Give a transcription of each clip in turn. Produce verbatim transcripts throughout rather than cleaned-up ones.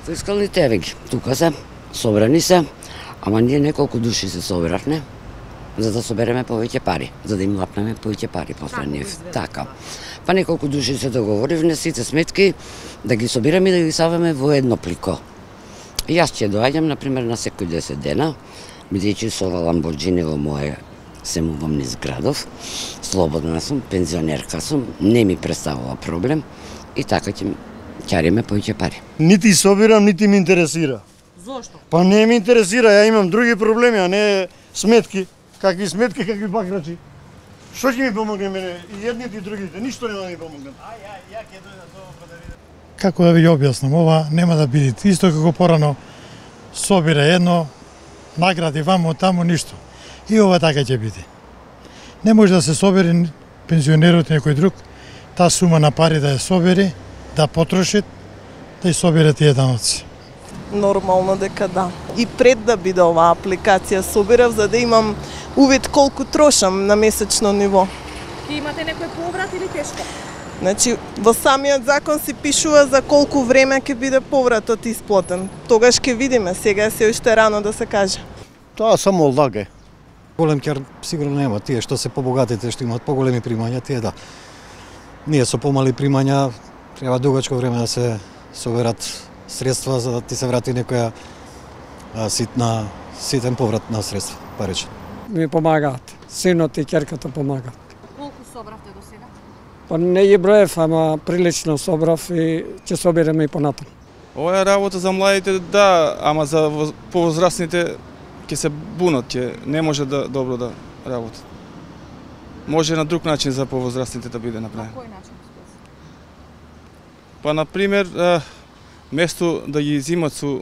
Фискалните еве тука се, собрани се, ама ние неколку души се собравме за да собереме повеќе пари, за да им лапнеме повеќе пари после нив. Така. Па неколку души се договоривме сите сметки да ги собираме и да ги саваме во едно плико. И јас ќе доаѓам, например, на секој десет дена, бидејќи со ова Ламборџини во моје се мувам низ градов, слободна сум, пензионерка сум, не ми представува проблем и така ќе ќариме повеќе пари. Нити собирам, нити ми интересира. Зошто? Па не ми интересира, ја имам други проблеми, а не сметки. Какви сметки, какви бакрачи. Што ќе ми помогне мене? И едните и другите, ништо нема да ми помогнат. А ја ја ќе дојдам за ова да видам. Како да ви ја објаснам, ова нема да биде исто како порано собира едно, награди вамо таму ништо. И ова така ќе биде. Не може да се собери пензионерот некој друг, таа сума на пари да ја собери, да потроши, да ја собере тие даноци. Нормално дека да. И пред да биде оваа апликација собирав за да имам увид колку трошам на месечно ниво. И имате некој поврат или тешко? Значи, во самиот закон се пишува за колку време ќе биде повратот исплатен. Тогаш ќе видиме, сега се уште рано да се каже. Тоа само лага. Голем ќар сигурно нема, тие што се побогатите, што имаат поголеми примања, тие да. Ние со помали примања треба дугачко време да се соберат средства за да ти се врати некоја а, ситна, ситен поврат на средства, парични. Ми помагаат. Синот и ќерката помагаат. Колку собравте до сега? Па не ги броев, ама прилично собрав и ќе собереме и понатаму. Ова е работа за младите, да, ама за повозрастните ќе се бунат, ќе не може да добро да работат. Може на друг начин за повозрастните да биде направено. На кој начин? Па на пример, место да ги изимат со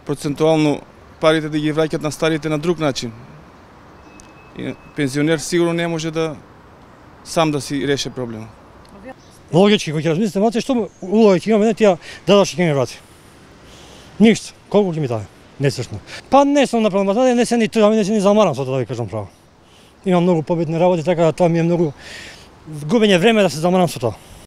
процентуално парите да ги враќат на старите на друг начин. И пензионер сигурно не може да сам да си реше проблемот. Логички, кога ќе размислите, мате што улога ќе имаме, не тие дадоши ќе ми врати. Ништо, колку ќе ми даде? Несешно. Па не сум направил, да не се ни тоа, не се ни замарам со тоа да ви кажам право. Имам многу побитни работи, така да тоа ми е многу губење време да се замарам со тоа.